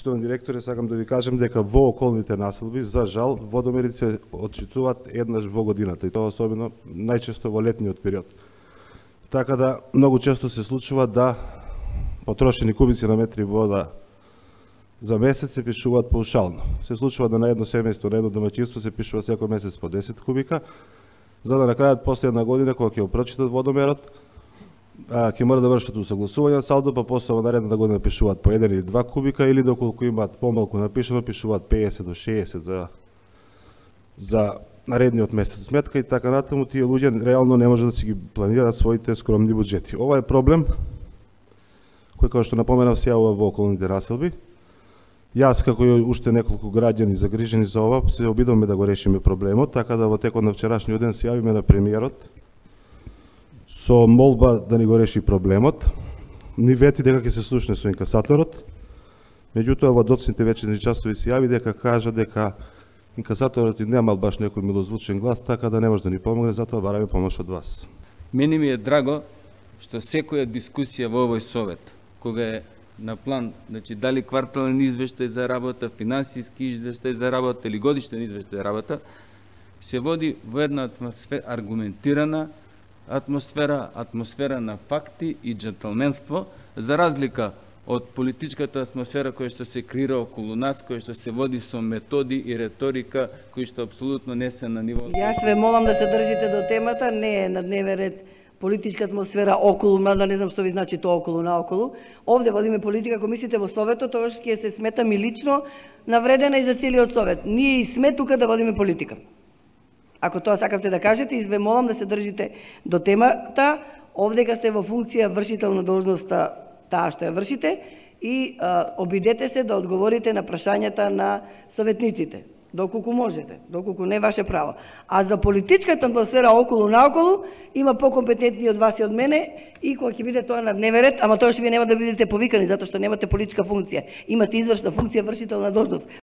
Почитувани директори, сакам да ви кажем дека во околните населби, за жал, водомерите се отчитуваат еднаш во годината и тоа особено најчесто во летниот период. Така да многу често се случува да потрошени кубици на метри вода за месец се пишуваат паушално. Се случува да на едно семејство, на едно домаќинство се пишува секој месец по 10 кубика, за да на крајот после една година кога ќе го прочитат водомерот, ќе мора да вршат усогласување на салдо, па после во наредната година пишуваат по 1 или 2 кубика или доколку имаат помалку напишано пишуваат 50 до 60 за наредниот месец сметка и така натаму. Тие луѓе реално не може да си ги планираат своите скромни буџети. Ова е проблем кој, како што напоменав, се јавува во околните населби. Јас, како и уште неколку граѓани загрижени за ова, се обидуваме да го решиме проблемот, така да во текот на вчерашниот ден се јавиме на премиерот со молба да ни го реши проблемот. Ни вети дека ќе се слушне со инкасаторот, меѓутоа во доцните вечерни часови се јави дека кажа дека инкасаторот и немал баш некој милозвучен глас, така да не може да ни помогне, затоа бараме помош од вас. Мене ми е драго што секоја дискусија во овој совет, кога е на план, значи дали квартален извештај за работа, финансиски извештај за работа или годишен извештај за работа, се води во една атмосфера, аргументирана атмосфера на факти и джентлменство, за разлика од политичката атмосфера која што се креира околу нас, која што се води со методи и реторика кои што апсолутно не се на ниво. Јас ве молам да се држите до темата, не е на дневен ред политичка атмосфера околу, мада не знам што ви значи тоа околу наоколу. Овде водиме политика, ако мислите во советот, тоа ќе се смета ми лично навредена и за целиот совет. Ние и сме тука да водиме политика. Ако тоа сакавте да кажете, изве молам да се држите до темата. Овдека сте во функција вршител на должноста таа што ја вршите и обидете се да одговорите на прашањата на советниците, доколку можете, доколку не е ваше право. А за политичката атмосфера околу наоколу има покомпетентни од вас и од мене и кога ќе биде тоа на дневен ред, ама тоа што вие нема да бидете повикани затоа што немате политичка функција. Имате извршна функција, вршител на должност.